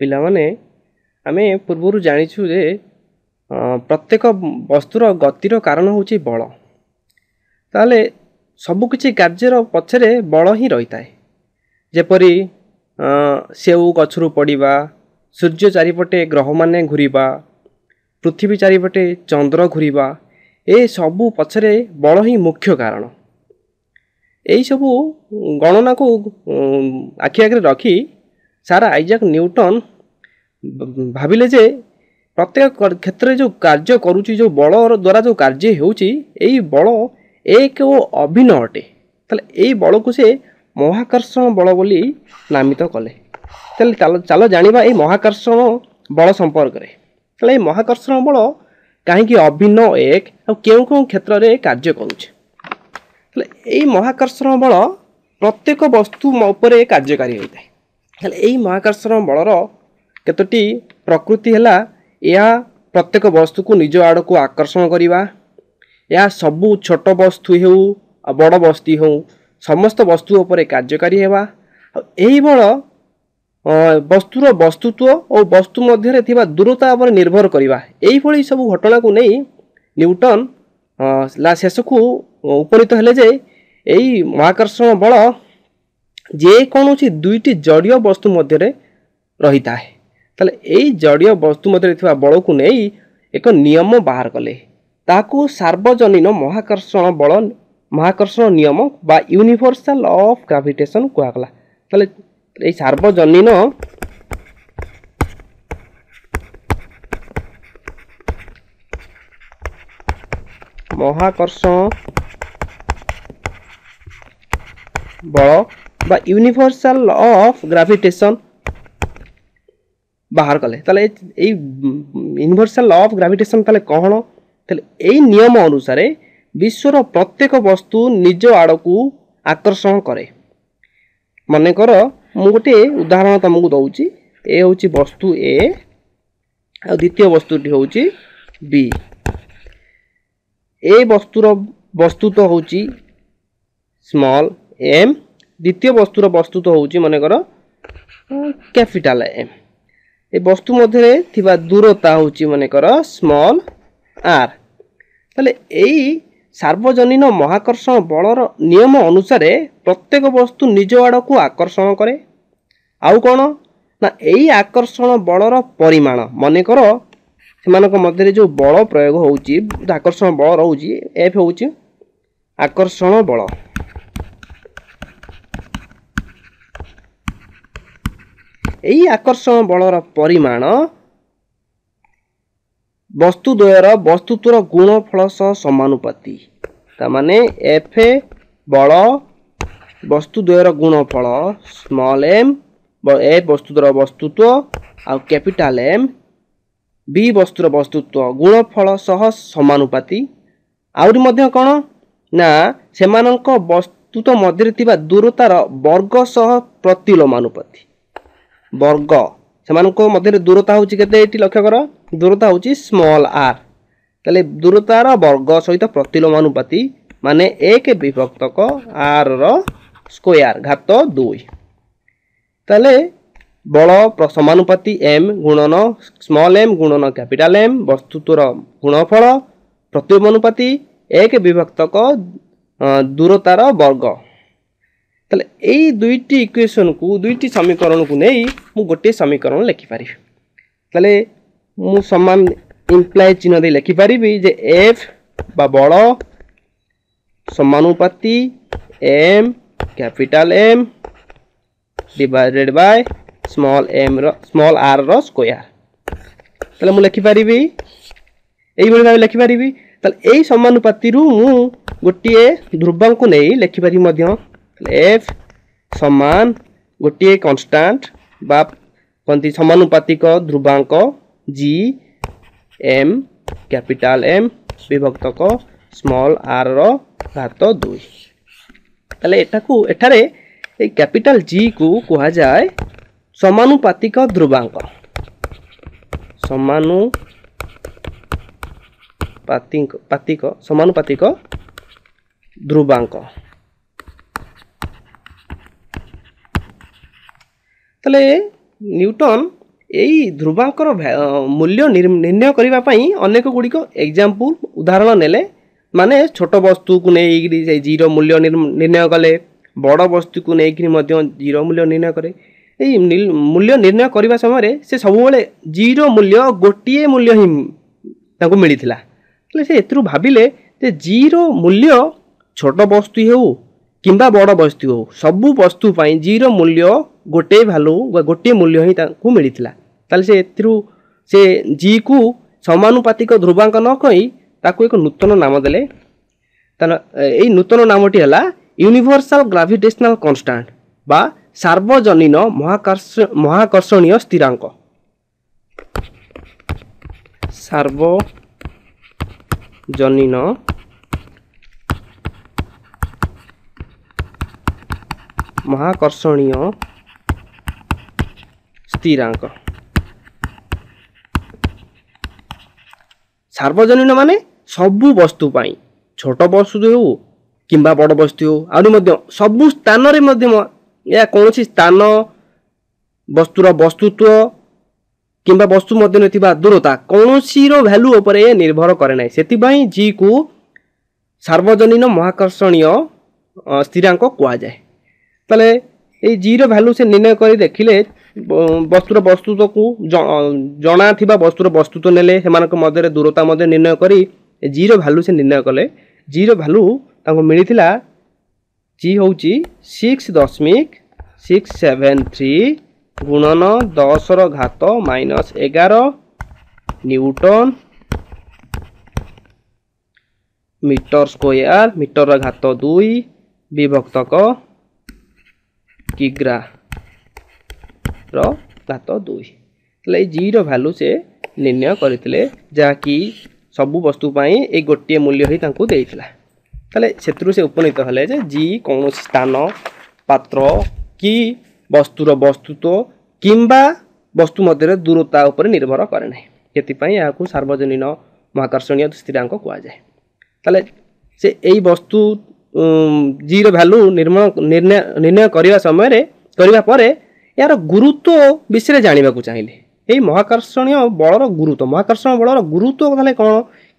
ପିଲାମାନେ, ଆମେ ପୂର୍ବରୁ ଜାଣିଛୁ ଯେ ପ୍ରତ୍ୟେକ ବସ୍ତୁର ଗତିର କାରଣ ହେଉଛି ବଳ। ତାହେଲେ ସବୁକିଛି କାର୍ଯ୍ୟର ପଛରେ ବଳ ହିଁ ରହିଥାଏ। ଯେପରି ସେଉ ଗଛରୁ ପଡ଼ିବା, ସୂର୍ଯ୍ୟ ଚାରିପଟେ ଗ୍ରହମାନେ ଘୂରିବା, ପୃଥିବୀ ଚାରିପଟେ ଚନ୍ଦ୍ର ଘୂରିବା, ଏସବୁ ପଛରେ ବଳ ହିଁ ମୁଖ୍ୟ କାରଣ। ଏହିସବୁ ଗଣନାକୁ ଆଖି ଆଗରେ ରଖି ସାର୍ ଆଇଜାକ୍ ନ୍ୟୁଟନ୍ ଭାବିଲେ ଯେ ପ୍ରତ୍ୟେକ କ୍ଷେତ୍ରରେ ଯେଉଁ କାର୍ଯ୍ୟ କରୁଛି, ଯେଉଁ ବଳ ଦ୍ୱାରା ଯେଉଁ କାର୍ଯ୍ୟ ହେଉଛି, ଏଇ ବଳ ଏକ ଓ ଅଭିନ୍ନ ଅଟେ। ତାହେଲେ ଏଇ ବଳକୁ ସେ ମହାକର୍ଷଣ ବଳ ବୋଲି ନାମିତ କଲେ। ତାହେଲେ ଚାଲ ଜାଣିବା ଏଇ ମହାକର୍ଷଣ ବଳ ସମ୍ପର୍କରେ। ତାହେଲେ ଏଇ ମହାକର୍ଷଣ ବଳ କାହିଁକି ଅଭିନ୍ନ, ଏକ ଆଉ କେଉଁ କେଉଁ କ୍ଷେତ୍ରରେ କାର୍ଯ୍ୟ କରୁଛି? ତାହେଲେ ଏଇ ମହାକର୍ଷଣ ବଳ ପ୍ରତ୍ୟେକ ବସ୍ତୁ ଉପରେ କାର୍ଯ୍ୟକାରୀ ହୋଇଥାଏ। ତାହେଲେ ଏଇ ମହାକର୍ଷଣ ବଳର କେତୋଟି ପ୍ରକୃତି ହେଲା, ଏହା ପ୍ରତ୍ୟେକ ବସ୍ତୁକୁ ନିଜ ଆଡ଼କୁ ଆକର୍ଷଣ କରିବା, ଏହା ସବୁ ଛୋଟ ବସ୍ତୁ ହେଉ ଆଉ ବଡ଼ ବସ୍ତୁ ହେଉ ସମସ୍ତ ବସ୍ତୁ ଉପରେ କାର୍ଯ୍ୟକାରୀ ହେବା, ଆଉ ଏହି ବଳ ବସ୍ତୁର ବସ୍ତୁତ୍ୱ ଓ ବସ୍ତୁ ମଧ୍ୟରେ ଥିବା ଦୂରତା ଉପରେ ନିର୍ଭର କରିବା। ଏଇଭଳି ସବୁ ଘଟଣାକୁ ନେଇ ନ୍ୟୁଟନ୍ ଶେଷକୁ ଉପନୀତ ହେଲେ ଯେ ଏଇ ମହାକର୍ଷଣ ବଳ ଯେକୌଣସି ଦୁଇଟି ଜଡ଼ୀୟ ବସ୍ତୁ ମଧ୍ୟରେ ରହିଥାଏ। ତାହେଲେ ଏଇ ଜଡ଼ୀୟ ବସ୍ତୁ ମଧ୍ୟରେ ଥିବା ବଳକୁ ନେଇ ଏକ ନିୟମ ବାହାର କଲେ, ତାହାକୁ ସାର୍ବଜନୀନ ମହାକର୍ଷଣ ବଳ, ମହାକର୍ଷଣ ନିୟମ ବା ୟୁନିଭର୍ସାଲ ଅଫ୍ ଗ୍ରାଭିଟେସନ୍ କୁହାଗଲା। ତାହେଲେ ଏଇ ସାର୍ବଜନୀନ ମହାକର୍ଷଣ ବଳ ବା ୟୁନିଭର୍ସାଲ ଅଫ୍ ଗ୍ରାଭିଟେସନ୍ ବାହାର କଲେ। ତାହେଲେ ଏଇ ୟୁନିଭର୍ସାଲ ଲ ଅଫ୍ ଗ୍ରାଭିଟେସନ୍ ତାହେଲେ କ'ଣ? ତାହେଲେ ଏଇ ନିୟମ ଅନୁସାରେ ବିଶ୍ୱର ପ୍ରତ୍ୟେକ ବସ୍ତୁ ନିଜ ଆଡ଼କୁ ଆକର୍ଷଣ କରେ। ମନେକର ମୁଁ ଗୋଟିଏ ଉଦାହରଣ ତୁମକୁ ଦେଉଛି। ଏ ହେଉଛି ବସ୍ତୁ ଏ ଆଉ ଦ୍ୱିତୀୟ ବସ୍ତୁଟି ହେଉଛି ବି। ଏ ବସ୍ତୁର ବସ୍ତୁତ୍ୱ ହେଉଛି ସ୍ମଲ୍ ଏମ୍, ଦ୍ୱିତୀୟ ବସ୍ତୁର ବସ୍ତୁତ୍ୱ ହେଉଛି ମନେକର କ୍ୟାପିଟାଲ ଏମ୍। ଏ ବସ୍ତୁ ମଧ୍ୟରେ ଥିବା ଦୂରତା ହେଉଛି ମନେକର ସ୍ମଲ୍ ଆର୍। ତାହେଲେ ଏଇ ସାର୍ବଜନୀନ ମହାକର୍ଷଣ ବଳର ନିୟମ ଅନୁସାରେ ପ୍ରତ୍ୟେକ ବସ୍ତୁ ନିଜ ଆଡ଼କୁ ଆକର୍ଷଣ କରେ। ଆଉ କ'ଣ ନା ଏଇ ଆକର୍ଷଣ ବଳର ପରିମାଣ, ମନେକର ସେମାନଙ୍କ ମଧ୍ୟରେ ଯେଉଁ ବଳ ପ୍ରୟୋଗ ହେଉଛି, ଆକର୍ଷଣ ବଳ ରହୁଛି, ଏଫ୍ ହେଉଛି ଆକର୍ଷଣ ବଳ। ଏଇ ଆକର୍ଷଣ ବଳର ପରିମାଣ ବସ୍ତୁ ଦ୍ୱୟର ବସ୍ତୁତ୍ୱର ଗୁଣଫଳ ସହ ସମାନୁପାତୀ। ତାମାନେ ଏଫ୍ ବଳ ବସ୍ତୁ ଦ୍ୱୟର ଗୁଣଫଳ ସ୍ମଲ୍ ଏମ୍, ଏ ବସ୍ତୁର ବସ୍ତୁତ୍ୱ ଆଉ କ୍ୟାପିଟାଲ ଏମ୍ ବି ବସ୍ତୁର ବସ୍ତୁତ୍ୱ ଗୁଣଫଳ ସହ ସମାନୁପାତୀ। ଆହୁରି ମଧ୍ୟ କ'ଣ ନା ସେମାନଙ୍କ ବସ୍ତୁତ୍ୱ ମଧ୍ୟରେ ଥିବା ଦୂରତାର ବର୍ଗ ସହ ପ୍ରତିଲୋମାନୁପାତୀ। ବର୍ଗ ସେମାନଙ୍କ ମଧ୍ୟରେ ଦୂରତା ହେଉଛି କେତେ? ଏଠି ଲକ୍ଷ୍ୟ କର, ଦୂରତା ହେଉଛି ସ୍ମଲ୍ ଆର୍। ତାହେଲେ ଦୂରତାର ବର୍ଗ ସହିତ ପ୍ରତିଲୋମାନୁପାତୀ ମାନେ 1 ବିଭକ୍ତକ ଆର୍ ର ସ୍କୋୟାର ଘାତ 2। ତାହେଲେ ବଳ ସମାନୁପାତୀ ଏମ୍ ଗୁଣନ ସ୍ମଲ୍ ଏମ୍ ଗୁଣନ କ୍ୟାପିଟାଲ ଏମ୍ ବସ୍ତୁତ୍ୱର ଗୁଣଫଳ ପ୍ରତିଲୋମାନୁପାତୀ 1 ବିଭକ୍ତକ ଦୂରତାର ବର୍ଗ। ତାହେଲେ ଏଇ ଦୁଇଟି ଇକ୍ୱେସନକୁ, ଦୁଇଟି ସମୀକରଣକୁ ନେଇ ମୁଁ ଗୋଟିଏ ସମୀକରଣ ଲେଖିପାରିବି। ତାହେଲେ ମୁଁ ସମାନ ଇମ୍ପ୍ଲାଏ ଚିହ୍ନ ଦେଇ ଲେଖିପାରିବି ଯେ ଏଫ୍ ବା ବଳ ସମାନୁପାତୀ M capital M divided by small M ର ସ୍ମଲ୍ ଆର୍ ର ସ୍କୋୟାର। ତାହେଲେ ମୁଁ ଲେଖିପାରିବି ଏଇଭଳି ଭାବେ ଲେଖିପାରିବି। ତାହେଲେ ଏଇ ସମାନୁପାତିରୁ ମୁଁ ଗୋଟିଏ ଧ୍ରୁବାଙ୍କୁ ନେଇ ଲେଖିପାରିବି ମଧ୍ୟ। ଏଫ୍ ସମାନ ଗୋଟିଏ କନଷ୍ଟାଣ୍ଟ ବା କହନ୍ତି ସମାନୁପାତିକ ଧ୍ରୁବାଙ୍କ ଜି ଏମ୍ କ୍ୟାପିଟାଲ ଏମ୍ ବିଭକ୍ତକ ସ୍ମଲ୍ ଆର୍ ର ଘାତ 2। ତାହେଲେ ଏଟାକୁ ଏଠାରେ ଏଇ କ୍ୟାପିଟାଲ ଜି କୁ କୁହାଯାଏ ସମାନୁପାତିକ ଧ୍ରୁବାଙ୍କ। ସମାନୁପାତିକ ଧ୍ରୁବାଙ୍କ। ତାହେଲେ ନ୍ୟୁଟନ୍ ଏଇ ଧ୍ରୁବାଙ୍କର ମୂଲ୍ୟ ନିର୍ଣ୍ଣୟ କରିବା ପାଇଁ ଅନେକ ଗୁଡ଼ିକ ଏକ୍ଜାମ୍ପଲ୍ ଉଦାହରଣ ନେଲେ। ମାନେ ଛୋଟ ବସ୍ତୁକୁ ନେଇକିରି ସେଇ ଜିର ମୂଲ୍ୟ ନିର୍ଣ୍ଣୟ କଲେ, ବଡ଼ ବସ୍ତୁକୁ ନେଇକିରି ମଧ୍ୟ ଜିର ମୂଲ୍ୟ ନିର୍ଣ୍ଣୟ କରେ। ଏଇ ମୂଲ୍ୟ ନିର୍ଣ୍ଣୟ କରିବା ସମୟରେ ସେ ସବୁବେଳେ ଜିର ମୂଲ୍ୟ ଗୋଟିଏ ମୂଲ୍ୟ ହିଁ ତାଙ୍କୁ ମିଳିଥିଲା। ହେଲେ ସେ ଏଥିରୁ ଭାବିଲେ ଯେ ଜିର ମୂଲ୍ୟ ଛୋଟ ବସ୍ତୁ ହେଉ କିମ୍ବା ବଡ଼ ବସ୍ତୁ ହେଉ, ସବୁ ବସ୍ତୁ ପାଇଁ ଜିର ମୂଲ୍ୟ ଗୋଟିଏ ଭାଲ୍ୟୁ ବା ଗୋଟିଏ ମୂଲ୍ୟ ହିଁ ତାଙ୍କୁ ମିଳିଥିଲା। ତାହେଲେ ସେ ଏଥିରୁ ସେ ଜିକୁ ସମାନୁପାତିକ ଧ୍ରୁବାଙ୍କ ନ କହି ତାକୁ ଏକ ନୂତନ ନାମ ଦେଲେ। ତାହେଲେ ଏଇ ନୂତନ ନାମଟି ହେଲା ୟୁନିଭର୍ସାଲ ଗ୍ରାଭିଟେସନାଲ କନଷ୍ଟାଣ୍ଟ ବା ସାର୍ବଜନୀନ ମହାକର୍ଷଣୀୟ ସ୍ଥିରାଙ୍କ। ସାର୍ବଜନୀନ ମହାକର୍ଷଣୀୟ ସ୍ଥିରାଙ୍କ। ସାର୍ବଜନୀନ ମାନେ ସବୁ ବସ୍ତୁ ପାଇଁ, ଛୋଟ ବସ୍ତୁ ହେଉ କିମ୍ବା ବଡ଼ ବସ୍ତୁ ହେଉ, ଆହୁରି ମଧ୍ୟ ସବୁ ସ୍ଥାନରେ ମଧ୍ୟ ଏହା କୌଣସି ସ୍ଥାନ, ବସ୍ତୁର ବସ୍ତୁତ୍ୱ କିମ୍ବା ବସ୍ତୁ ମଧ୍ୟରେ ଥିବା ଦୂରତା କୌଣସିର ଭ୍ୟାଲୁ ଉପରେ ନିର୍ଭର କରେ ନାହିଁ। ସେଥିପାଇଁ ଜିକୁ ସାର୍ବଜନୀନ ମହାକର୍ଷଣୀୟ ସ୍ଥିରାଙ୍କ କୁହାଯାଏ। ତାହେଲେ ଏଇ ଜିର ଭ୍ୟାଲୁ ସେ ନିର୍ଣ୍ଣୟ କରି ଦେଖିଲେ, ବସ୍ତୁର ବସ୍ତୁତ୍ୱକୁ ଜଣା ଥିବା ବସ୍ତୁର ବସ୍ତୁତ୍ୱ ନେଲେ, ସେମାନଙ୍କ ମଧ୍ୟରେ ଦୂରତା ମଧ୍ୟ ନିର୍ଣ୍ଣୟ କରି ଜିର ଭ୍ୟାଲୁ ସେ ନିର୍ଣ୍ଣୟ କଲେ। ଜିର ଭ୍ୟାଲୁ ତାଙ୍କୁ ମିଳିଥିଲା, ଜି ହେଉଛି 6.673 ଗୁଣନ 10ର ଘାତ ମାଇନସ୍ 11 ନ୍ୟୁଟନ ମିଟର ସ୍କୋୟାର ମିଟରର ଘାତ 2 ବିଭକ୍ତକ କିଗ୍ରାର ଘାତ 2। ତାହେଲେ ଏଇ ଜିର ଭ୍ୟାଲୁ ସେ ନିର୍ଣ୍ଣୟ କରିଥିଲେ, ଯାହାକି ସବୁ ବସ୍ତୁ ପାଇଁ ଏଇ ଗୋଟିଏ ମୂଲ୍ୟ ହିଁ ତାଙ୍କୁ ଦେଇଥିଲା। ତାହେଲେ ସେଥିରୁ ସେ ଉପନୀତ ହେଲେ ଯେ ଜି କୌଣସି ସ୍ଥାନ, ପାତ୍ର କି ବସ୍ତୁର ବସ୍ତୁତ୍ୱ କିମ୍ବା ବସ୍ତୁ ମଧ୍ୟରେ ଦୂରତା ଉପରେ ନିର୍ଭର କରେ ନାହିଁ। ସେଥିପାଇଁ ଏହାକୁ ସାର୍ବଜନୀନ ମହାକର୍ଷଣୀୟ ସ୍ଥିରାଙ୍କ କୁହାଯାଏ। ତାହେଲେ ସେ ଏଇ ବସ୍ତୁ ଜିର ଭ୍ୟାଲୁ ନିର୍ଣ୍ଣୟ କରିବା ସମୟରେ କରିବା ପରେ ଏହାର ଗୁରୁତ୍ୱ ବିଷୟରେ ଜାଣିବାକୁ ଚାହିଁଲେ। ଏଇ ମହାକର୍ଷଣୀୟ ବଳର ଗୁରୁତ୍ୱ, ମହାକର୍ଷଣ ବଳର ଗୁରୁତ୍ୱ ତାହେଲେ କ'ଣ,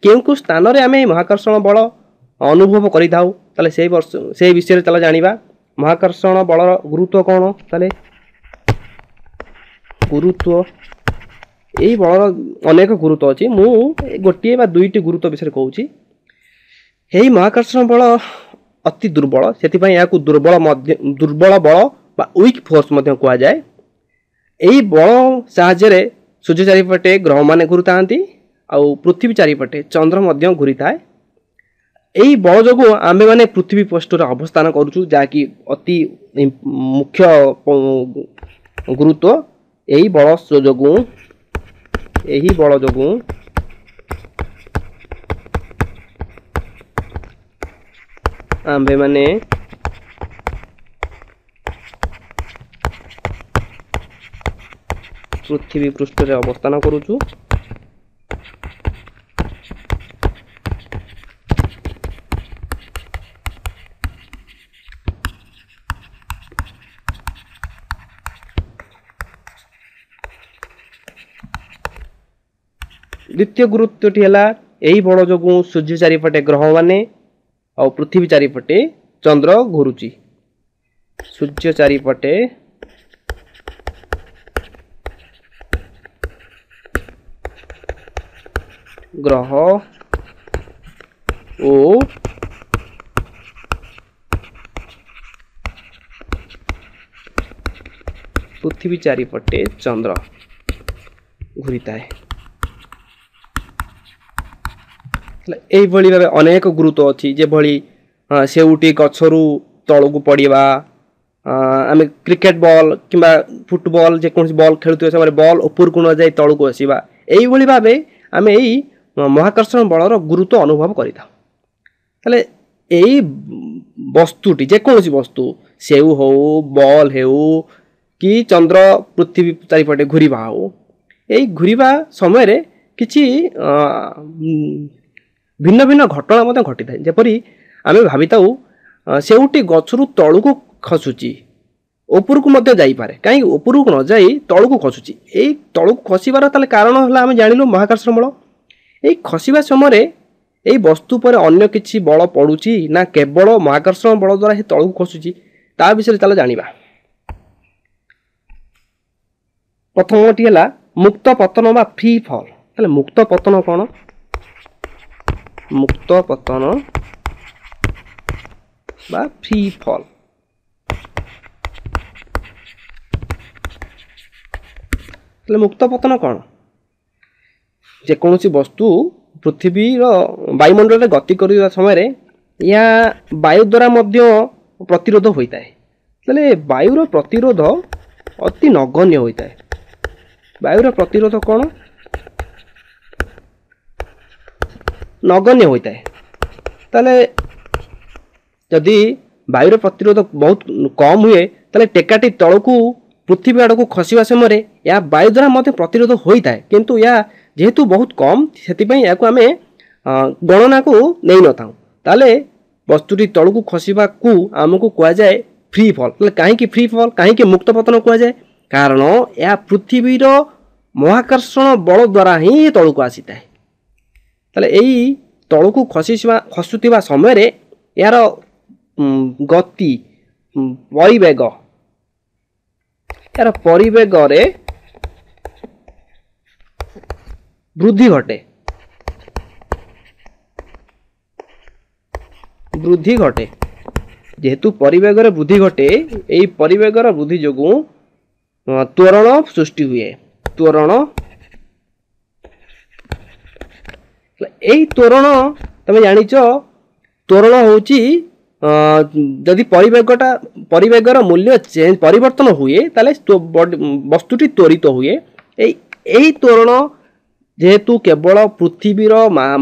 କେଉଁ କେଉଁ ସ୍ଥାନରେ ଆମେ ଏଇ ମହାକର୍ଷଣ ବଳ ଅନୁଭବ କରିଥାଉ, ତାହେଲେ ସେଇ ବର୍ଷ ସେଇ ବିଷୟରେ ତାହେଲେ ଜାଣିବା। ମହାକର୍ଷଣ ବଳର ଗୁରୁତ୍ୱ କ'ଣ? ତାହେଲେ ଗୁରୁତ୍ୱ, ଏଇ ବଳର ଅନେକ ଗୁରୁତ୍ୱ ଅଛି, ମୁଁ ଗୋଟିଏ ବା ଦୁଇଟି ଗୁରୁତ୍ୱ ବିଷୟରେ କହୁଛି। ଏହି ମହାକର୍ଷଣ ବଳ ଅତି ଦୁର୍ବଳ, ସେଥିପାଇଁ ଏହାକୁ ଦୁର୍ବଳ ବଳ ବା ୱିକ୍ ଫୋର୍ସ ମଧ୍ୟ କୁହାଯାଏ। ଏହି ବଳ ସାହାଯ୍ୟରେ ସୂର୍ଯ୍ୟ ଚାରିପଟେ ଗ୍ରହମାନେ ଘୁରୁଥାନ୍ତି ଆଉ ପୃଥିବୀ ଚାରିପଟେ ଚନ୍ଦ୍ର ମଧ୍ୟ ଘୁରିଥାଏ। ଏହି ବଳ ଯୋଗୁଁ ଆମ୍ଭେମାନେ ପୃଥିବୀ ପୃଷ୍ଠରେ ଅବସ୍ଥାନ କରୁଛୁ, ଯାହାକି ଅତି ମୁଖ୍ୟ ଗୁରୁତ୍ୱ। ଏହି ବଳ ଯୋଗୁଁ, ଏହି ବଳ ଯୋଗୁଁ ଆମ୍ଭେମାନେ ପୃଥିବୀ ପୃଷ୍ଠରେ ଅବସ୍ଥାନ କରୁଛୁ। ଦ୍ୱିତୀୟ ଗୁରୁତ୍ୱଟି ହେଲା ଏହି ବଳ ଯୋଗୁଁ ସୂର୍ଯ୍ୟ ଚାରିପଟେ ଗ୍ରହମାନେ ଆଉ ପୃଥିବୀ ଚାରିପଟେ ଚନ୍ଦ୍ର ଘୁରୁଛି। ସୂର୍ଯ୍ୟ ଚାରିପଟେ ଗ୍ରହ ଓ ପୃଥିବୀ ଚାରିପଟେ ଚନ୍ଦ୍ର ଘୁରିଥାଏ। ଏଇଭଳି ଭାବେ ଅନେକ ଗୁରୁତ୍ୱ ଅଛି, ଯେଭଳି ସେଉଟି ଗଛରୁ ତଳକୁ ପଡ଼ିବା, ଆମେ କ୍ରିକେଟ ବଲ୍ କିମ୍ବା ଫୁଟବଲ୍ ଯେକୌଣସି ବଲ୍ ଖେଳୁଥିବା ସମୟରେ ବଲ୍ ଉପରକୁ ନ ଯାଇ ତଳକୁ ଆସିବା। ଏଇଭଳି ଭାବେ ଆମେ ଏଇ ମହାକର୍ଷଣ ବଳର ଗୁରୁତ୍ୱ ଅନୁଭବ କରିଥାଉ। ତାହେଲେ ଏଇ ବସ୍ତୁଟି, ଯେକୌଣସି ବସ୍ତୁ, ସେଉ ହେଉ, ବଲ୍ ହେଉ କି ଚନ୍ଦ୍ର ପୃଥିବୀ ଚାରିପଟେ ଘୁରିବା ହେଉ, ଏଇ ଘୁରିବା ସମୟରେ କିଛି ଭିନ୍ନ ଭିନ୍ନ ଘଟଣା ମଧ୍ୟ ଘଟିଥାଏ। ଯେପରି ଆମେ ଭାବିଥାଉ ସେଉଟି ଗଛରୁ ତଳକୁ ଖସୁଛି, ଉପରକୁ ମଧ୍ୟ ଯାଇପାରେ। କାହିଁକି ଉପରକୁ ନ ଯାଇ ତଳକୁ ଖସୁଛି? ଏଇ ତଳକୁ ଖସିବାର ତାହେଲେ କାରଣ ହେଲା ଆମେ ଜାଣିଲୁ ମହାକର୍ଷଣ ବଳ। ଏଇ ଖସିବା ସମୟରେ ଏଇ ବସ୍ତୁ ଉପରେ ଅନ୍ୟ କିଛି ବଳ ପଡ଼ୁଛି ନା କେବଳ ମହାକର୍ଷଣ ବଳ ଦ୍ୱାରା ସେ ତଳକୁ ଖସୁଛି, ତା ବିଷୟରେ ଚାଲ ଜାଣିବା। ପ୍ରଥମଟି ହେଲା ମୁକ୍ତ ପତନ ବା ଫ୍ରି ଫଲ୍। ତାହେଲେ ମୁକ୍ତ ପତନ କ'ଣ? ମୁକ୍ତ ପତନ ବା ଫ୍ରି ଫଲ୍। ତାହେଲେ ମୁକ୍ତ ପତନ କ'ଣ? ଯେକୌଣସି ବସ୍ତୁ ପୃଥିବୀର ବାୟୁମଣ୍ଡଳରେ ଗତି କରିବା ସମୟରେ ଏହା ବାୟୁ ଦ୍ୱାରା ମଧ୍ୟ ପ୍ରତିରୋଧ ହୋଇଥାଏ। ତାହେଲେ ବାୟୁର ପ୍ରତିରୋଧ ଅତି ନଗଣ୍ୟ ହୋଇଥାଏ। ବାୟୁର ପ୍ରତିରୋଧ କ'ଣ? ନଗଣ୍ୟ ହୋଇଥାଏ। ତାହେଲେ ଯଦି ବାୟୁର ପ୍ରତିରୋଧ ବହୁତ କମ୍ ହୁଏ, ତାହେଲେ ଟେକାଟି ତଳକୁ ପୃଥିବୀ ଆଡ଼କୁ ଖସିବା ସମୟରେ ଏହା ବାୟୁ ଦ୍ୱାରା ମଧ୍ୟ ପ୍ରତିରୋଧ ହୋଇଥାଏ, କିନ୍ତୁ ଏହା ଯେହେତୁ ବହୁତ କମ୍ ସେଥିପାଇଁ ଏହାକୁ ଆମେ ଗଣନାକୁ ନେଇନଥାଉ। ତାହେଲେ ବସ୍ତୁଟି ତଳକୁ ଖସିବାକୁ ଆମକୁ କୁହାଯାଏ ଫ୍ରି ଫଲ୍। ତାହେଲେ କାହିଁକି ଫ୍ରି ଫଲ୍, କାହିଁକି ମୁକ୍ତ ପତନ କୁହାଯାଏ? କାରଣ ଏହା ପୃଥିବୀର ମହାକର୍ଷଣ ବଳ ଦ୍ୱାରା ହିଁ ତଳକୁ ଆସିଥାଏ। ତାହେଲେ ଏଇ ତଳକୁ ଖସୁଥିବା ସମୟରେ ଏହାର ଗତି ପରିବେଗ, ଏହାର ପରିବେଗରେ ବୃଦ୍ଧି ଘଟେ, ବୃଦ୍ଧି ଘଟେ। ଯେହେତୁ ପରିବେଗରେ ବୃଦ୍ଧି ଘଟେ, ଏଇ ପରିବେଗର ବୃଦ୍ଧି ଯୋଗୁଁ ତ୍ୱରଣ ସୃଷ୍ଟି ହୁଏ। ତ୍ୱରଣ, ଏଇ ତ୍ୱରଣ ତମେ ଜାଣିଛ, ତ୍ୱରଣ ହେଉଛି ଯଦି ପରିବେଗଟା ପରିବେଗର ମୂଲ୍ୟ ଚେଞ୍ଜ ପରିବର୍ତ୍ତନ ହୁଏ ତାହେଲେ ବସ୍ତୁଟି ତ୍ୱରିତ ହୁଏ। ଏଇ ତ୍ୱରଣ ଯେହେତୁ କେବଳ ପୃଥିବୀର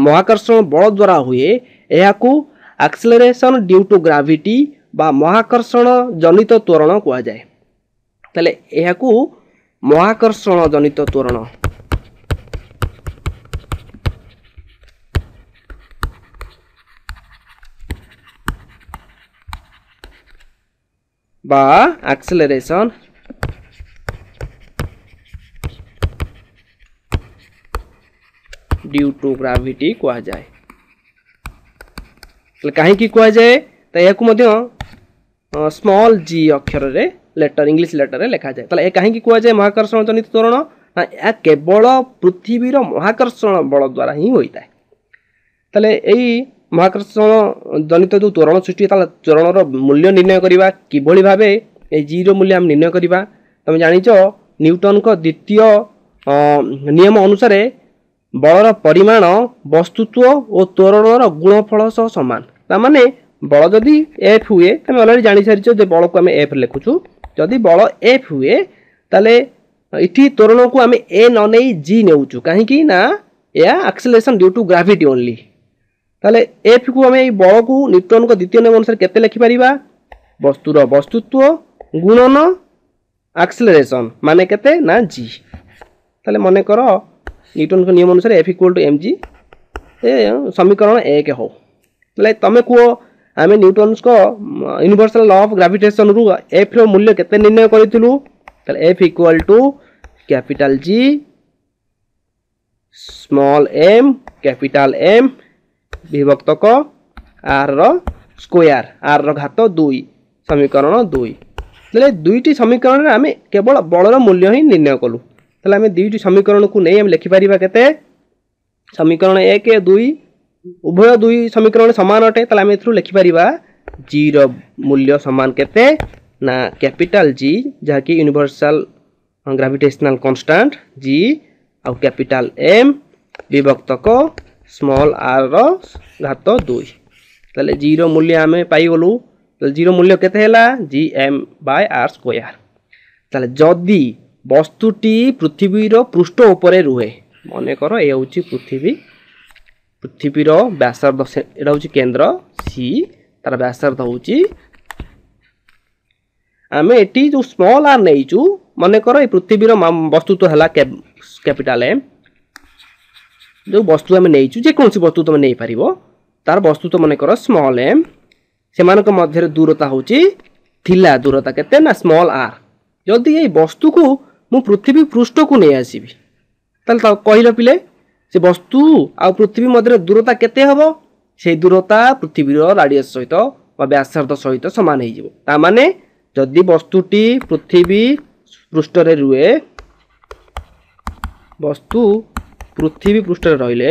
ମହାକର୍ଷଣ ବଳ ଦ୍ୱାରା ହୁଏ, ଏହାକୁ ଆକ୍ସେଲରେସନ୍ ଡ୍ୟୁ ଟୁ ଗ୍ରାଭିଟି ବା ମହାକର୍ଷଣ ଜନିତ ତ୍ୱରଣ କୁହାଯାଏ। ତାହେଲେ ଏହାକୁ ମହାକର୍ଷଣ ଜନିତ ତ୍ୱରଣ ବା ଆକ୍ସେଲରେସନ୍ ଡ୍ୟୁ ଟୁ ଗ୍ରାଭିଟି କୁହାଯାଏ। ତାହେଲେ କାହିଁକି କୁହାଯାଏ? ତ ଏହାକୁ ମଧ୍ୟ ସ୍ମଲ୍ ଜି ଅକ୍ଷରରେ ଲେଟର, ଇଂଲିଶ ଲେଟରରେ ଲେଖାଯାଏ। ତାହେଲେ ଏ କାହିଁକି କୁହାଯାଏ ମହାକର୍ଷଣ ଜନିତ ତ୍ୱରଣ? ନା ଏହା କେବଳ ପୃଥିବୀର ମହାକର୍ଷଣ ବଳ ଦ୍ୱାରା ହିଁ ହୋଇଥାଏ। ତାହେଲେ ଏଇ ମହାକର୍ଷଣ ଜନିତ ଯେଉଁ ତ୍ୱରଣ ସୃଷ୍ଟି, ତାହେଲେ ତ୍ୱରଣର ମୂଲ୍ୟ ନିର୍ଣ୍ଣୟ କରିବା କିଭଳି ଭାବେ? ଏଇ ଜିର ମୂଲ୍ୟ ଆମେ ନିର୍ଣ୍ଣୟ କରିବା। ତମେ ଜାଣିଛ ନ୍ୟୁଟନଙ୍କ ଦ୍ୱିତୀୟ ନିୟମ ଅନୁସାରେ ବଳର ପରିମାଣ ବସ୍ତୁତ୍ୱ ଓ ତ୍ୱରଣର ଗୁଣଫଳ ସହ ସମାନ। ତାମାନେ ବଳ ଯଦି ଏଫ୍ ହୁଏ, ତମେ ଅଲରେଡ଼ି ଜାଣିସାରିଛ ଯେ ବଳକୁ ଆମେ ଏଫ୍ ଲେଖୁଛୁ। ଯଦି ବଳ ଏଫ୍ ହୁଏ ତାହେଲେ ଏଠି ତ୍ୱରଣକୁ ଆମେ ଏ ନ ନେଇ ଜି ନେଉଛୁ, କାହିଁକି ନା ଏହା acceleration due to gravity only. ତାହେଲେ ଏଫ୍କୁ ଆମେ ଏଇ ବଳକୁ ନ୍ୟୁଟନଙ୍କ ଦ୍ୱିତୀୟ ନିୟମ ଅନୁସାରେ କେତେ ଲେଖିପାରିବା? ବସ୍ତୁର ବସ୍ତୁତ୍ୱ ଗୁଣନ ଆକ୍ସେଲରେସନ୍ ମାନେ କେତେ ନା ଜି। ତାହେଲେ ମନେକର ନ୍ୟୁଟନଙ୍କ ନିୟମ ଅନୁସାରେ F equal to M G, ଏ ସମୀକରଣ 1 ହଉ। ତାହେଲେ ତମେ କୁହ ଆମେ ନ୍ୟୁଟନଙ୍କ ୟୁନିଭର୍ସାଲ ଲ ଅଫ୍ ଗ୍ରାଭିଟେସନରୁ ଏଫ୍ର ମୂଲ୍ୟ କେତେ ନିର୍ଣ୍ଣୟ କରିଥିଲୁ? ତାହେଲେ F equal to capital G small M capital M ବିଭକ୍ତକ ଆର୍ ର ସ୍କୋୟାର, ଆର୍ ର ଘାତ 2, ସମୀକରଣ 2। ତାହେଲେ ଦୁଇଟି ସମୀକରଣରେ ଆମେ କେବଳ ବଳର ମୂଲ୍ୟ ହିଁ ନିର୍ଣ୍ଣୟ କଲୁ। ତାହେଲେ ଆମେ ଦୁଇଟି ସମୀକରଣକୁ ନେଇ ଆମେ ଲେଖିପାରିବା କେତେ? ସମୀକରଣ 1 2, ଉଭୟ ଦୁଇ ସମୀକରଣ ସମାନ ଅଟେ। ତାହେଲେ ଆମେ ଏଥିରୁ ଲେଖିପାରିବା ଜିର ମୂଲ୍ୟ ସମାନ କେତେ ନା କ୍ୟାପିଟାଲ ଜି, ଯାହାକି ୟୁନିଭର୍ସାଲ ଗ୍ରାଭିଟେସନାଲ କନଷ୍ଟାଣ୍ଟ ଜି, ଆଉ କ୍ୟାପିଟାଲ ଏମ୍ ବିଭକ୍ତକ ସ୍ମଲ୍ ଆର୍ ର ଘାତ 2। ତାହେଲେ ଜିର ମୂଲ୍ୟ ଆମେ ପାଇଗଲୁ। ତାହେଲେ ଜିର ମୂଲ୍ୟ କେତେ ହେଲା? G M by R square. ତାହେଲେ ଯଦି ବସ୍ତୁଟି ପୃଥିବୀର ପୃଷ୍ଠ ଉପରେ ରୁହେ, ମନେକର ଏ ହେଉଛି ପୃଥିବୀ, ପୃଥିବୀର ବ୍ୟାସାର୍ଦ୍ଧ ଏଇଟା ହେଉଛି କେନ୍ଦ୍ର ସି, ତାର ବ୍ୟାସାର୍ଦ୍ଧ ହେଉଛି, ଆମେ ଏଠି ଯେଉଁ ସ୍ମଲ୍ ଆର୍ ନେଇଛୁ, ମନେକର ଏ ପୃଥିବୀର ବସ୍ତୁତ୍ୱ ହେଲା କ୍ୟାପିଟାଲ ଏମ୍, ଯେଉଁ ବସ୍ତୁ ଆମେ ନେଇଛୁ, ଯେକୌଣସି ବସ୍ତୁ ତୁମେ ନେଇପାରିବ, ତାର ବସ୍ତୁତ୍ୱ ମନେକର ସ୍ମଲ୍ ଏମ୍, ସେମାନଙ୍କ ମଧ୍ୟରେ ଦୂରତା ହେଉଛି ଥିଲା ଦୂରତା କେତେ ନା ସ୍ମଲ୍ ଆର୍। ଯଦି ଏଇ ବସ୍ତୁକୁ ମୁଁ ପୃଥିବୀ ପୃଷ୍ଠକୁ ନେଇ ଆସିବି, ତାହେଲେ କହିଲ ପିଲେ, ସେ ବସ୍ତୁ ଆଉ ପୃଥିବୀ ମଧ୍ୟରେ ଦୂରତା କେତେ ହେବ? ସେଇ ଦୂରତା ପୃଥିବୀର ରାଡ଼ିୟସ୍ ସହିତ ବା ବ୍ୟାସାର୍ଦ୍ଧ ସହିତ ସମାନ ହେଇଯିବ। ତା ମାନେ ଯଦି ବସ୍ତୁଟି ପୃଥିବୀ ପୃଷ୍ଠରେ ରୁହେ, ବସ୍ତୁ ପୃଥିବୀ ପୃଷ୍ଠରେ ରହିଲେ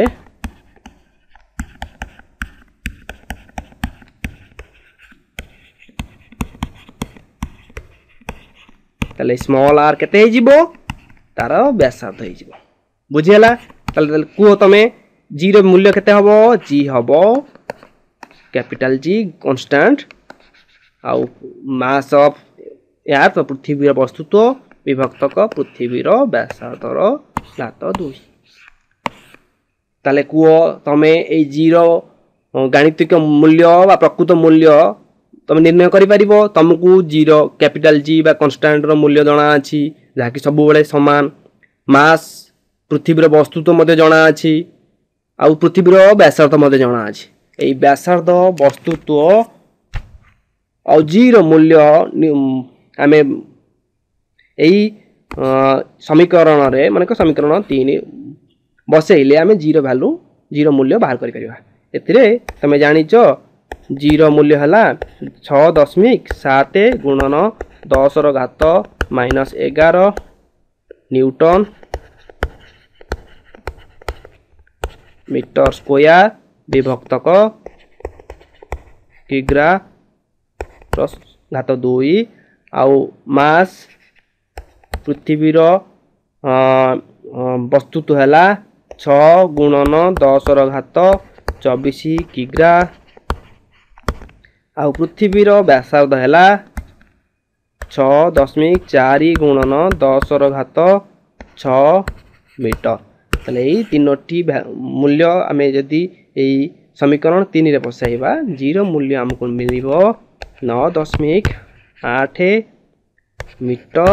ତାହେଲେ ସ୍ମଲ୍ ଆର୍ କେତେ ହେଇଯିବ? ତାର ବ୍ୟାସାର୍ଦ୍ଧ ହେଇଯିବ। ବୁଝିହେଲା? ତାହେଲେ କୁହ ତମେ, ଜିର ମୂଲ୍ୟ କେତେ ହେବ? ଜି ହେବ କ୍ୟାପିଟାଲ ଜି କନଷ୍ଟାଣ୍ଟ ଆଉ ମାସ୍ ଅଫ୍ ଏୟାର, ତ ପୃଥିବୀର ବସ୍ତୁତ୍ୱ ବିଭକ୍ତକ ପୃଥିବୀର ବ୍ୟାସାର୍ଦ୍ଧର ଘାତ 2। ତାହେଲେ କୁହ ତମେ, ଏଇ ଜିର ଗାଣିତିକ ମୂଲ୍ୟ ବା ପ୍ରକୃତ ମୂଲ୍ୟ ତମେ ନିର୍ଣ୍ଣୟ କରିପାରିବ? ତମକୁ ଜିର କ୍ୟାପିଟାଲ ଜି ବା କନଷ୍ଟାଣ୍ଟର ମୂଲ୍ୟ ଜଣାଅଛି, ଯାହାକି ସବୁବେଳେ ସମାନ। ମାସ୍ ପୃଥିବୀର ବସ୍ତୁତ୍ୱ ମଧ୍ୟ ଜଣାଅଛି ଆଉ ପୃଥିବୀର ବ୍ୟାସାର୍ଦ୍ଧ ମଧ୍ୟ ଜଣାଅଛି। ଏଇ ବ୍ୟାସାର୍ଦ୍ଧ, ବସ୍ତୁତ୍ୱ ଆଉ ଜିର ମୂଲ୍ୟ ଆମେ ଏଇ ସମୀକରଣରେ, ମାନେ ସମୀକରଣ 3 ବସେଇଲେ ଆମେ ଜିର ଭ୍ୟାଲୁ, ଜିର ମୂଲ୍ୟ ବାହାର କରିପାରିବା। ଏଥିରେ ତମେ ଜାଣିଛ ଜିର ମୂଲ୍ୟ ହେଲା 6.7 ଗୁଣନ 10ର ଘାତ ମାଇନସ୍ 11 ନ୍ୟୁଟନ ମିଟର ସ୍କୋୟାର ବିଭକ୍ତକ କିଗ୍ରା ଘାତ 2। ଆଉ ମାସ୍ ପୃଥିବୀର ବସ୍ତୁତ୍ୱ ହେଲା 6 ଗୁଣନ 10ର ଘାତ 24 କିଗ୍ରା ଆଉ ପୃଥିବୀର ବ୍ୟାସାର୍ଦ୍ଧ ହେଲା 6.4 ଗୁଣନ 10ର ଘାତ 6 ମିଟର। ତାହେଲେ ଏଇ ତିନୋଟି ମୂଲ୍ୟ ଆମେ ଯଦି ଏଇ ସମୀକରଣ 3ରେ ବସାଇବା, ଜିର ମୂଲ୍ୟ ଆମକୁ ମିଳିବ 9.8 ମିଟର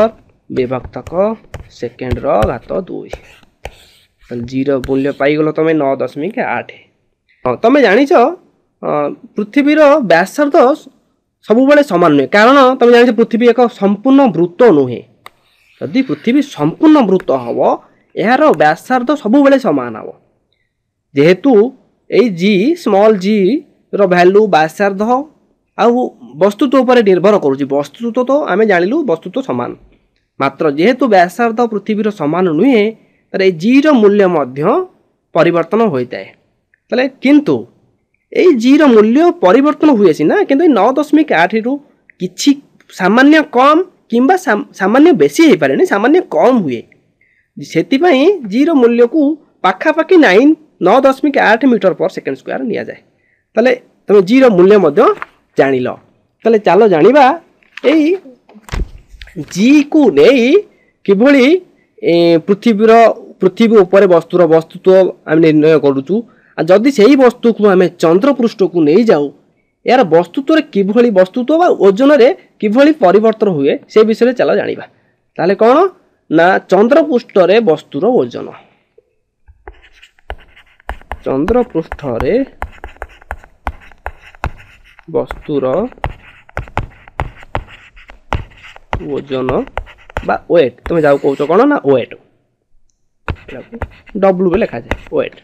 ବିଭକ୍ତକ ସେକେଣ୍ଡର ଘାତ 2। ତାହେଲେ ଜିର ମୂଲ୍ୟ ପାଇଗଲ ତମେ 9.8। ହଁ, ତମେ ଜାଣିଛ ପୃଥିବୀର ବ୍ୟାସାର୍ଦ୍ଧ ସବୁବେଳେ ସମାନ ନୁହେଁ, କାରଣ ତମେ ଜାଣିଛ ପୃଥିବୀ ଏକ ସମ୍ପୂର୍ଣ୍ଣ ବୃତ୍ତ ନୁହେଁ। ଯଦି ପୃଥିବୀ ସମ୍ପୂର୍ଣ୍ଣ ବୃତ୍ତ ହେବ, ଏହାର ବ୍ୟାସାର୍ଦ୍ଧ ସବୁବେଳେ ସମାନ ହେବ। ଯେହେତୁ ଏଇ ଜି, ସ୍ମଲ୍ ଜି ର ଭ୍ୟାଲୁ ବ୍ୟାସାର୍ଦ୍ଧ ଆଉ ବସ୍ତୁତ୍ୱ ଉପରେ ନିର୍ଭର କରୁଛି। ବସ୍ତୁତ୍ୱ ତ ଆମେ ଜାଣିଲୁ ବସ୍ତୁତ୍ୱ ସମାନ, ମାତ୍ର ଯେହେତୁ ବ୍ୟାସାର୍ଦ୍ଧ ପୃଥିବୀର ସମାନ ନୁହେଁ, ତାହେଲେ ଏଇ ଜିର ମୂଲ୍ୟ ମଧ୍ୟ ପରିବର୍ତ୍ତନ ହୋଇଥାଏ। ତାହେଲେ କିନ୍ତୁ ଏଇ ଜିର ମୂଲ୍ୟ ପରିବର୍ତ୍ତନ ହୁଏ ସିନା, କିନ୍ତୁ ଏଇ 9.8ରୁ କିଛି ସାମାନ୍ୟ କମ୍ କିମ୍ବା ସାମାନ୍ୟ ବେଶୀ ହେଇପାରେନି, ସାମାନ୍ୟ କମ୍ ହୁଏ। ସେଥିପାଇଁ ଜିର ମୂଲ୍ୟକୁ ପାଖାପାଖି 9.8 ମିଟର ପର ସେକେଣ୍ଡ ସ୍କୋୟାର ନିଆଯାଏ। ତାହେଲେ ତମେ ଜିର ମୂଲ୍ୟ ମଧ୍ୟ ଜାଣିଲ। ତାହେଲେ ଚାଲ ଜାଣିବା ଏଇ ଜିକୁ ନେଇ କିଭଳି ପୃଥିବୀ ଉପରେ ବସ୍ତୁର ବସ୍ତୁତ୍ୱ ଆମେ ନିର୍ଣ୍ଣୟ କରୁଛୁ, ଆଉ ଯଦି ସେଇ ବସ୍ତୁକୁ ଆମେ ଚନ୍ଦ୍ରପୃଷ୍ଠକୁ ନେଇଯାଉ, ଏହାର ବସ୍ତୁତ୍ୱରେ କିଭଳି, ବସ୍ତୁତ୍ୱ ବା ଓଜନରେ କିଭଳି ପରିବର୍ତ୍ତନ ହୁଏ, ସେ ବିଷୟରେ ଚାଲ ଜାଣିବା। ତାହେଲେ କ'ଣ ନା ଚନ୍ଦ୍ରପୃଷ୍ଠରେ ବସ୍ତୁର ଓଜନ, ଚନ୍ଦ୍ରପୃଷ୍ଠରେ ବସ୍ତୁର ଓଜନ ବା ୱେଟ୍, ତୁମେ ଯାଉ କହୁଛ କ'ଣ ନା ୱେଟ୍, ଡବ୍ଲୁ ବି ଲେଖାଯାଏ ୱେଟ୍।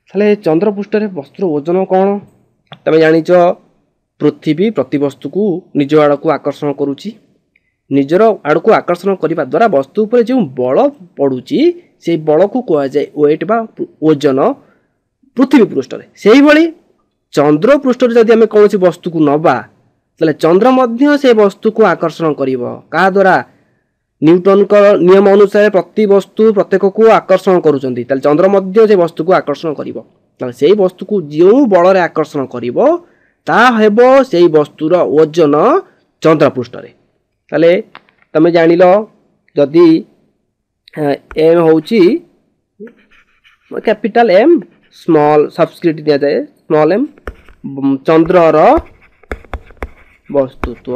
ତାହେଲେ ଚନ୍ଦ୍ରପୃଷ୍ଠରେ ବସ୍ତୁର ଓଜନ କ'ଣ? ତମେ ଜାଣିଛ ପୃଥିବୀ ପ୍ରତିବସ୍ତୁକୁ ନିଜ ଆଡ଼କୁ ଆକର୍ଷଣ କରୁଛି। ନିଜର ଆଡ଼କୁ ଆକର୍ଷଣ କରିବା ଦ୍ୱାରା ବସ୍ତୁ ଉପରେ ଯେଉଁ ବଳ ପଡ଼ୁଛି, ସେଇ ବଳକୁ କୁହାଯାଏ ୱେଟ୍ ବା ଓଜନ ପୃଥିବୀ ପୃଷ୍ଠରେ। ସେଇଭଳି ଚନ୍ଦ୍ର ପୃଷ୍ଠରେ ଯଦି ଆମେ କୌଣସି ବସ୍ତୁକୁ ନେବା, ତାହେଲେ ଚନ୍ଦ୍ର ମଧ୍ୟ ସେ ବସ୍ତୁକୁ ଆକର୍ଷଣ କରିବ। କାହା ଦ୍ୱାରା? ନ୍ୟୁଟନଙ୍କ ନିୟମ ଅନୁସାରେ ପ୍ରତି ବସ୍ତୁ ପ୍ରତ୍ୟେକକୁ ଆକର୍ଷଣ କରୁଛନ୍ତି। ତାହେଲେ ଚନ୍ଦ୍ର ମଧ୍ୟ ସେ ବସ୍ତୁକୁ ଆକର୍ଷଣ କରିବ। ତାହେଲେ ସେଇ ବସ୍ତୁକୁ ଯେଉଁ ବଳରେ ଆକର୍ଷଣ କରିବ, ତାହା ହେବ ସେଇ ବସ୍ତୁର ଓଜନ ଚନ୍ଦ୍ରପୃଷ୍ଠରେ। ତାହେଲେ ତମେ ଜାଣିଲ, ଯଦି ଏମ୍ ହେଉଛି କ୍ୟାପିଟାଲ ଏମ୍, ସ୍ମଲ୍ ସବସ୍କ୍ରିପ୍ଟ ଦିଆଯାଏ ସ୍ମଲ୍ ଏମ୍, ଚନ୍ଦ୍ରର ବସ୍ତୁତ୍ୱ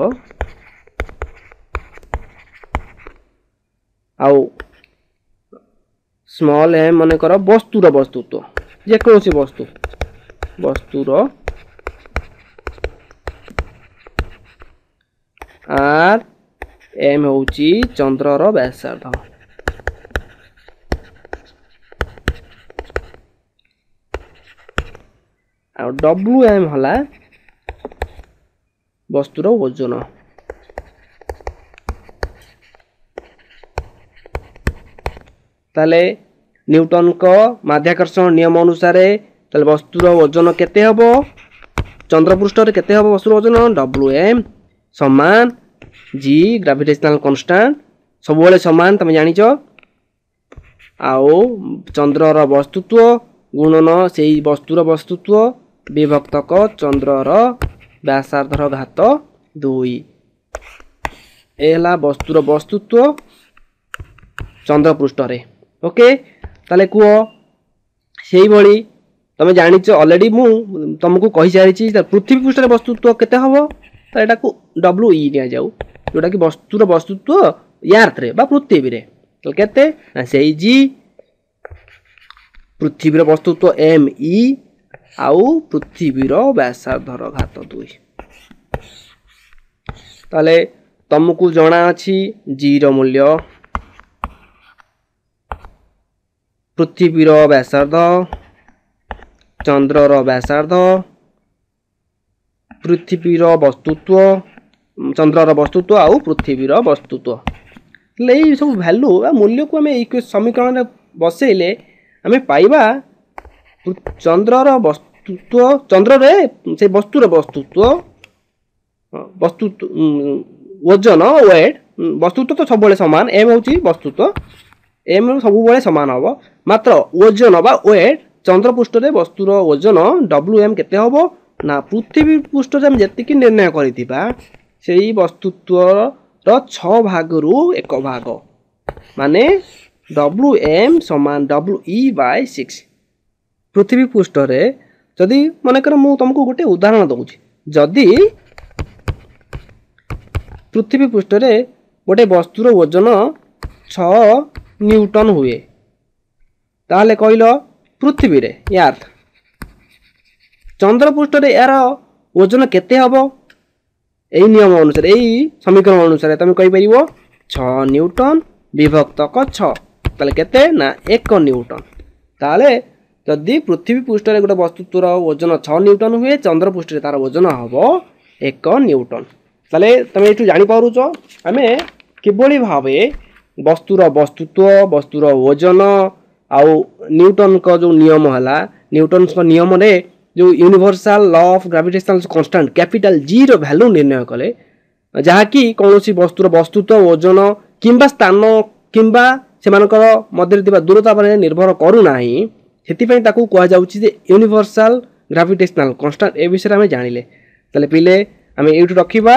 ଆଉ ସ୍ମଲ୍ ଏମ୍ ମନେକର ବସ୍ତୁର ବସ୍ତୁତ୍ୱ, ଯେକୌଣସି ବସ୍ତୁ, ବସ୍ତୁର ଆର୍ ଏମ୍ ହେଉଛି ଚନ୍ଦ୍ରର ବ୍ୟାସାର୍ଦ୍ଧ। ଆଉ ଡବ୍ଲୁ ଏମ୍ ହେଲା ବସ୍ତୁର ଓଜନ। ତାହେଲେ ନ୍ୟୁଟନଙ୍କ ମାଧ୍ୟାକର୍ଷଣ ନିୟମ ଅନୁସାରେ ତାହେଲେ ବସ୍ତୁର ଓଜନ କେତେ ହେବ? ଚନ୍ଦ୍ରପୃଷ୍ଠରେ କେତେ ହେବ ବସ୍ତୁର ଓଜନ? ଡବ୍ଲୁ ଏମ୍ ସମାନ ଜି, ଗ୍ରାଭିଟେସନାଲ କନଷ୍ଟାଣ୍ଟ ସବୁବେଳେ ସମାନ ତମେ ଜାଣିଛ, ଆଉ ଚନ୍ଦ୍ରର ବସ୍ତୁତ୍ୱ ଗୁଣନ ସେଇ ବସ୍ତୁର ବସ୍ତୁତ୍ୱ ବିଭକ୍ତକ ଚନ୍ଦ୍ରର ବ୍ୟାସାର୍ଦ୍ଧର ଘାତ 2। ଏ ହେଲା ବସ୍ତୁର ବସ୍ତୁତ୍ୱ ଚନ୍ଦ୍ରପୃଷ୍ଠରେ। ଓକେ, ତାହେଲେ କୁହ ସେଇଭଳି ତମେ ଜାଣିଛ ଅଲରେଡ଼ି, ମୁଁ ତମକୁ କହିସାରିଛି ପୃଥିବୀ ପୃଷ୍ଠରେ ବସ୍ତୁତ୍ୱ କେତେ ହେବ। ତ ଏଟାକୁ ଡବ୍ଲୁ ଇ ନିଆଯାଉ, ଯେଉଁଟାକି ବସ୍ତୁର ବସ୍ତୁତ୍ୱ ୟାର୍ଥରେ ବା ପୃଥିବୀରେ। ତ କେତେ ନା ସେଇ ଜି, ପୃଥିବୀର ବସ୍ତୁତ୍ୱ ଏମ୍ ଇ, ଆଉ ପୃଥିବୀର ବ୍ୟାସାର୍ଦ୍ଧର ଘାତ 2। ତାହେଲେ ତମକୁ ଜଣା ଅଛି ଜିର ମୂଲ୍ୟ, ପୃଥିବୀର ବ୍ୟାସାର୍ଦ୍ଧ, ଚନ୍ଦ୍ରର ବ୍ୟାସାର୍ଦ୍ଧ, ପୃଥିବୀର ବସ୍ତୁତ୍ୱ, ଚନ୍ଦ୍ରର ବସ୍ତୁତ୍ୱ ଆଉ ପୃଥିବୀର ବସ୍ତୁତ୍ୱ। ହେଲେ ଏଇ ସବୁ ଭ୍ୟାଲୁ ବା ମୂଲ୍ୟକୁ ଆମେ ଏଇ ସମୀକରଣରେ ବସେଇଲେ ଆମେ ପାଇବା ଚନ୍ଦ୍ରର ବସ୍ତୁତ୍ୱ, ଚନ୍ଦ୍ରରେ ସେ ବସ୍ତୁର ବସ୍ତୁତ୍ୱ, ବସ୍ତୁତ୍ୱ ଓଜନ ୱେଟ୍। ବସ୍ତୁତ୍ୱ ତ ସବୁବେଳେ ସମାନ, ଏମ୍ ହେଉଛି ବସ୍ତୁତ୍ୱ, ଏମ୍ ସବୁବେଳେ ସମାନ ହେବ, ମାତ୍ର ଓଜନ ବା ୱେଟ୍ ଚନ୍ଦ୍ରପୃଷ୍ଠରେ ବସ୍ତୁର ଓଜନ ଡବ୍ଲୁ ଏମ୍ କେତେ ହେବ ନା ପୃଥିବୀ ପୃଷ୍ଠରେ ଆମେ ଯେତିକି ନିର୍ଣ୍ଣୟ କରିଥିବା ସେଇ ବସ୍ତୁତ୍ୱର 6 ଭାଗରୁ 1 ଭାଗ, ମାନେ ଡବ୍ଲୁ ଏମ୍ ସମାନ ଡବ୍ଲୁ ଇ ବାଇ 6। ପୃଥିବୀ ପୃଷ୍ଠରେ ଯଦି ମନେକର ମୁଁ ତୁମକୁ ଗୋଟେ ଉଦାହରଣ ଦେଉଛି, ଯଦି ପୃଥିବୀ ପୃଷ୍ଠରେ ଗୋଟେ ବସ୍ତୁର ଓଜନ 6 ନ୍ୟୁଟନ ହୁଏ, ତାହେଲେ କହିଲ ପୃଥିବୀରେ ୟାର୍ଥ ଚନ୍ଦ୍ରପୃଷ୍ଠରେ ଏହାର ଓଜନ କେତେ ହେବ? ଏଇ ନିୟମ ଅନୁସାରେ, ଏଇ ସମୀକରଣ ଅନୁସାରେ ତମେ କହିପାରିବ 6 ନ୍ୟୁଟନ ବିଭକ୍ତକ 6, ତାହେଲେ କେତେ ନା 1 ନ୍ୟୁଟନ। ତାହେଲେ ଯଦି ପୃଥିବୀ ପୃଷ୍ଠରେ ଗୋଟେ ବସ୍ତୁତ୍ୱର ଓଜନ 6 ନ୍ୟୁଟନ ହୁଏ, ଚନ୍ଦ୍ରପୃଷ୍ଠରେ ତାର ଓଜନ ହେବ 1 ନ୍ୟୁଟନ। ତାହେଲେ ତମେ ଏଇଠୁ ଜାଣିପାରୁଛ ଆମେ କିଭଳି ଭାବେ ବସ୍ତୁର ବସ୍ତୁତ୍ୱ, ବସ୍ତୁର ଓଜନ ଆଉ ନ୍ୟୁଟନଙ୍କ ଯେଉଁ ନିୟମ ହେଲା, ନ୍ୟୁଟନଙ୍କ ନିୟମରେ ଯେଉଁ universal law of gravitational constant capital ଜିର value ନିର୍ଣ୍ଣୟ କଲେ, ଯାହାକି କୌଣସି ବସ୍ତୁର ବସ୍ତୁତ୍ୱ, ଓଜନ କିମ୍ବା ସ୍ଥାନ କିମ୍ବା ସେମାନଙ୍କର ମଧ୍ୟରେ ଥିବା ଦୂରତା ଉପରେ ନିର୍ଭର କରୁନାହିଁ, ସେଥିପାଇଁ ତାକୁ କୁହାଯାଉଛି ଯେ ୟୁନିଭର୍ସାଲ ଗ୍ରାଭିଟେସନାଲ କନଷ୍ଟାଣ୍ଟ। ଏ ବିଷୟରେ ଆମେ ଜାଣିଲେ। ତାହେଲେ ପିଲେ ଆମେ ଏଇଠୁ ରଖିବା।